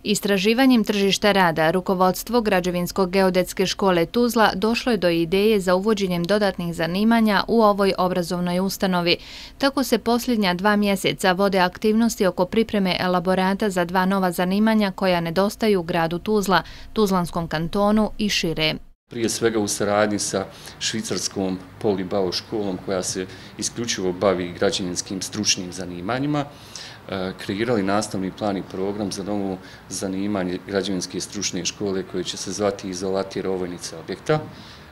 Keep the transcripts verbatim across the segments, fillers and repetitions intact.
Istraživanjem tržišta rada, rukovodstvo Građevinsko-geodetske škole Tuzla došlo je do ideje za uvođenjem dodatnih zanimanja u ovoj obrazovnoj ustanovi. Tako se posljednja dva mjeseca vode aktivnosti oko pripreme elaborata za dva nova zanimanja koja nedostaju gradu Tuzla, Tuzlanskom kantonu i šire. Prije svega u saradnji sa švicarskom Polibao školom koja se isključivo bavi građevinskim stručnim zanimanjima, kreirali nastavni plan i program za novo zanimanje građevinske stručne škole koje će se zvati izolatir ovojnice objekta.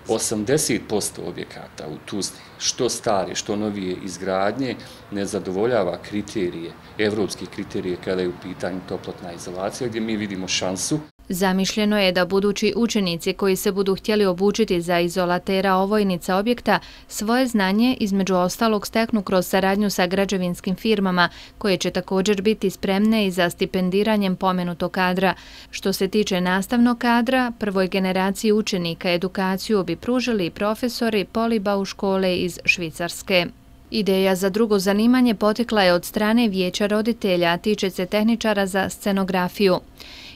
osamdeset posto objekata u Tuzli, što stare, što novije izgradnje, ne zadovoljava kriterije, evropske kriterije kada je u pitanju toplotna izolacija, gdje mi vidimo šansu. Zamišljeno je da budući učenici koji se budu htjeli obučiti za izolatera ovojnica objekta svoje znanje između ostalog steknu kroz saradnju sa građevinskim firmama koje će također biti spremne i za stipendiranjem pomenutog kadra. Što se tiče nastavnog kadra, prvoj generaciji učenika edukaciju bi pružili profesori Polibao škole iz Švicarske. Ideja za drugo zanimanje potekla je od strane vijeća roditelja, a tiče se tehničara za scenografiju.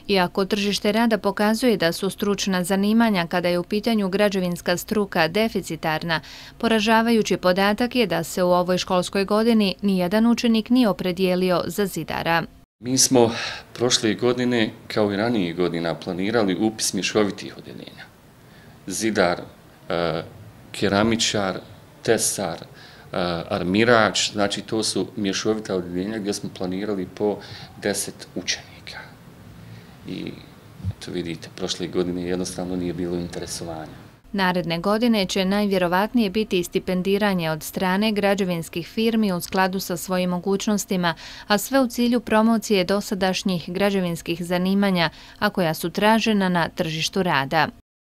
Iako tržište rada pokazuje da su stručna zanimanja kada je u pitanju građevinska struka deficitarna, poražavajući podatak je da se u ovoj školskoj godini nijedan učenik nije opredijelio za zidara. Mi smo prošle godine, kao i ranije godina, planirali upis mješovitih odjeljenja. Zidar, keramičar, tesar, armirač, znači to su mješovita odjeljenja gdje smo planirali po deset učenika. I to vidite, prošle godine jednostavno nije bilo interesovanja. Naredne godine će najvjerovatnije biti stipendiranje od strane građevinskih firmi u skladu sa svojim mogućnostima, a sve u cilju promocije dosadašnjih građevinskih zanimanja, a koja su tražena na tržištu rada.